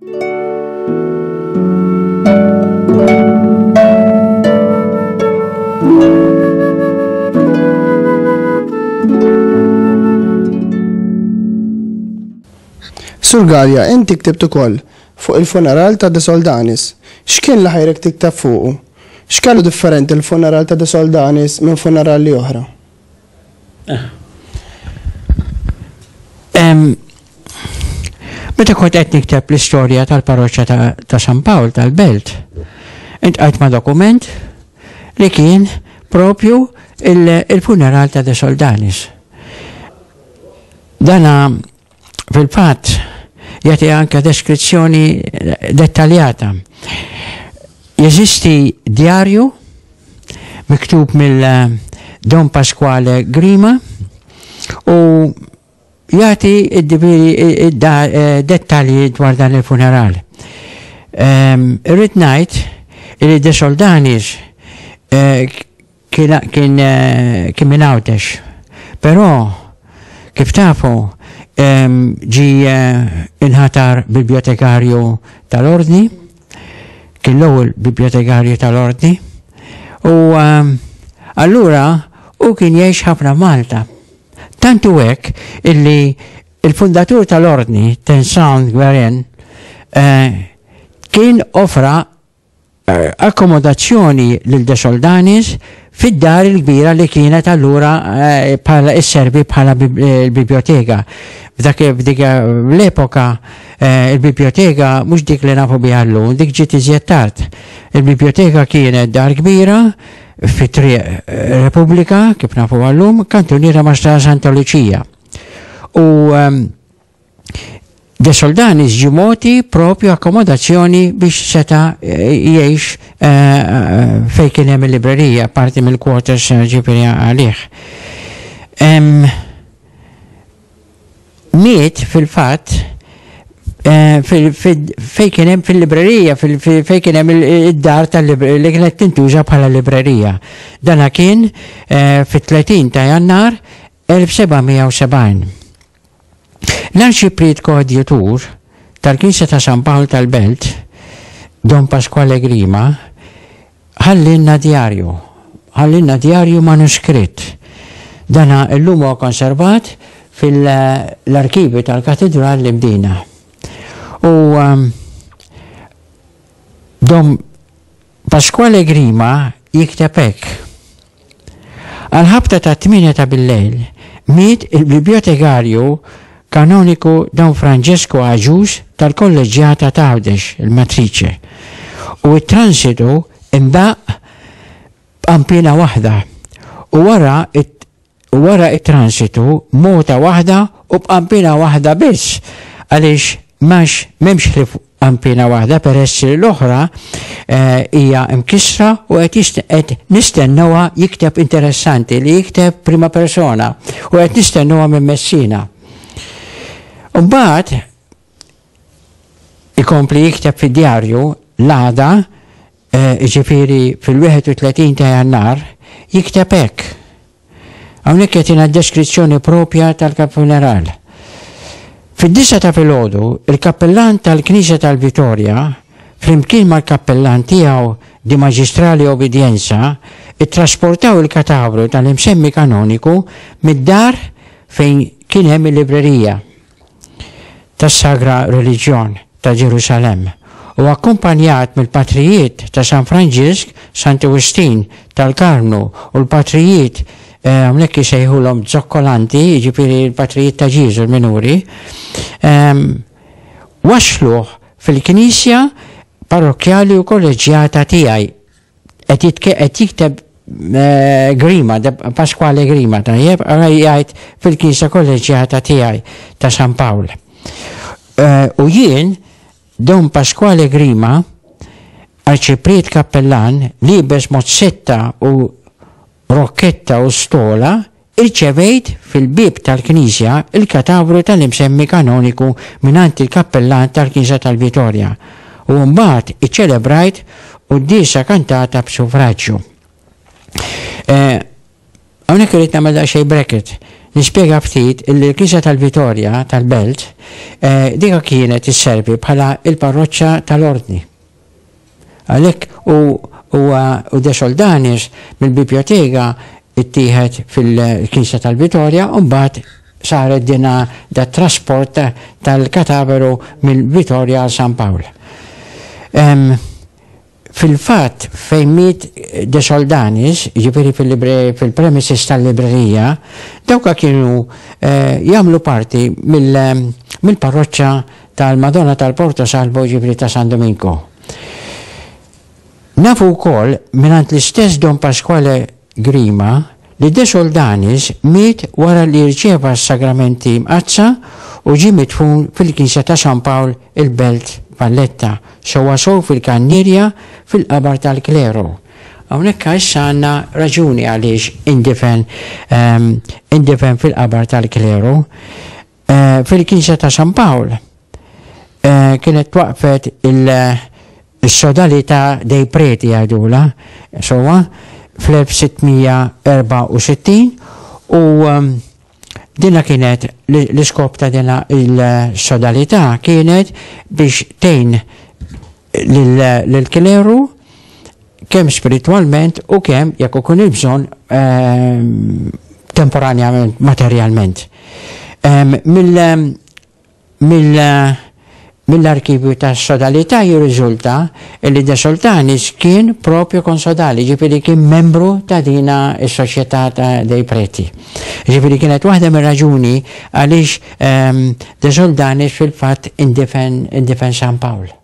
Sur Galea, inti ktibt ukoll fuq il-funeral ta' De Soldanis. X'kien li ħajrek tikteb fuqu? X'kellu differenti l-funeral ta' De Soldanis minn funerali oħra? Meta kont qed nikteb l-istorja tal-parroċċa ta' San Pawl tal-Belt, intqajt ma' dokument li kien propju il-funeral ta' De Soldanis. Dana fil-fatt jagħti anke deskrizzjoni dettaljata. Jeżisti djarju miktub mill Don Pasquale Grima u jagħti dettalji dwar dan il-funeral. Irrid ngħid li De Soldanis kien kien kien minn Għawdex. Però kif tafu ġie inħatar bibliotekarju tal-Ordni, kien l-ewwel bibliotekarju tal-Ordni, u allura hu kien jgħix ħafna Malta. Tant hu hekk illi il-fundatur tal-Ordni, Tensand Guerin, kien offra akkomodazzjoni lil De Soldanis fid-dar il-kbira li kienet allura bħala isservi bħala l-biblioteka. F'dak f'dik l-epoka il-biblioteka mhux dik li nafu biha llum, dik ġiet iżjed tard. Il-biblioteka kienet dar kbira fi triq Repubblika, kif nafu llum, kantuniera ma' Strada Santa Lucia. U De Soldanis ġie mogħti propju akkomodazzjoni biex seta' jgħix fejn kien hemm il-librerija, parti mill-quarters ġifieri għalih. Miet fil-fatt fejn kien hemm fil-librerija, fejn kien hemm id-dar tal-librerija li kienet tintuża bħala librerija. Dana kien fit-30 ta' Jannar 1770. L-Arċipriet Koadjutur tal-Knisja ta' San Pawl tal-Belt, Don Pasquale Grima, ħallielna djarju, ħallielna djarju manuskritt. Dana llum huwa konservat fil-arkivju tal-Katidral l-Imdina. U Dom Pasquale Grima jikteb hekk, Għall-ħabta tat-tmienja ta' billejl miet il-bibljotekarju kanoniku Don Francesco Agius tal-Kolleġġjata t'Għawdex, il-Matrice, u t-transitu ndaqq b'qanpiena waħda u wara u wara t-transitu mota waħda u b'qanpiena waħda biss għaliex m'għax m'hemmx ħlief qanpiena waħda peress li l-oħra hija mkissra u qed qed nistennewha jikteb interessanti li jikteb prima persona u qed nistennewha minn Messina. Mbagħad ikompli jikteb fid-djarju l-għada jiġifieri fil-31 ta' Jannar, jikteb hekk. Hawnhekk jagħtina deskrizzjoni propja tal-funeral. Fid-disgħa ta' filgħodu, il-kappillan tal-Knisja tal-Vitorja, flimkien mal-kappillan tiegħu di Magistrale Obbedienza, ittrasportaw il-katavru tal-imsemmi kanoniku mid-dar fejn kien hemm il-librerija. tas-Sagra Reliġjon ta' Ġerusalemm u akkumpanjat mill-patrijiet ta' San Franġisk, Santi Wistin tal-Karmnu u l-patrijiet hawnhekk isejħulhom zokkolanti, jiġifieri l-patrijiet ta' Ġieżu l-minuri, wassluh fil-knisja parrokkjali u kolleġġjata tiegħi. Qed qed jikteb eh, Grima, Pasquale Grima, tajjeb, jgħid fil-Knisja Kolleġjata tiegħi ta' San Pawl. Eh, u jien, Don Pasquale Grima, arċipriet kappellan, libes mozzetta u rokketta u stola, Irċevejt fil-bieb tal-knisja l-katavru tal-imsemmi kanoniku mingħand il-kappellan tal-knisja tal-Vitorja u mbagħad iċċelebrajt quddiesa kantata b'suffraġġju. Hawnhekk irrid nagħmel daqsxejn bracket. Nispjega ftit illi l-Knisja tal-Vitorja tal-Belt eh, dika kienet isservi bħala il-parroċċa tal-Ordni. Għalhekk u huwa u De Soldanis mill-biblioteka ittieħed fil-Knisja tal-Vitorja u mbagħad saret dina da trasport tal-kataveru mill-Vitorja għal San Pawl. Fil-fatt, fejn miet De Soldanis, jiġifieri fil-premises tal-librerija, dawka kienu jagħmlu parti mill-parroċċa tal-Madonna tal-Porto Salvo jiġifieri ta' San Dominko. Nafu wkoll mingħand l-istess Don Pasquale Grima li De Soldanis miet wara li rċieva s-sagramenti mqaddsa u ġie midfun fil-knisja ta' San Pawl il-Belt Valletta, sewwasew fil-Kannierja fil-qabar tal-kleru. Hawnhekk issa għandna raġuni għaliex indifen indifen fil-qabar tal-kleru. Fil-knisja ta' San Pawl kienet twaqfet il-sodalità dei preti jgħidulha, sewwa, fl-1664 u dina kienet l-iskop ta' dina il-sodalità kienet biex tgħin lill-kleru kemm spiritwalment u kemm jekk ikun il-bżonn ehm, temporanjament materjalment. Ehm, mill mill mill-arkivju ta' sodalità jirriżulta li De Soltanis kien propju konsodali, ġifieri kien membru ta' dina s-soċjetà ta' dei preti. Ġifieri kienet waħda mir-raġuni għaliex ehm, De Soltanis fil-fatt indifen indifen San Pawl.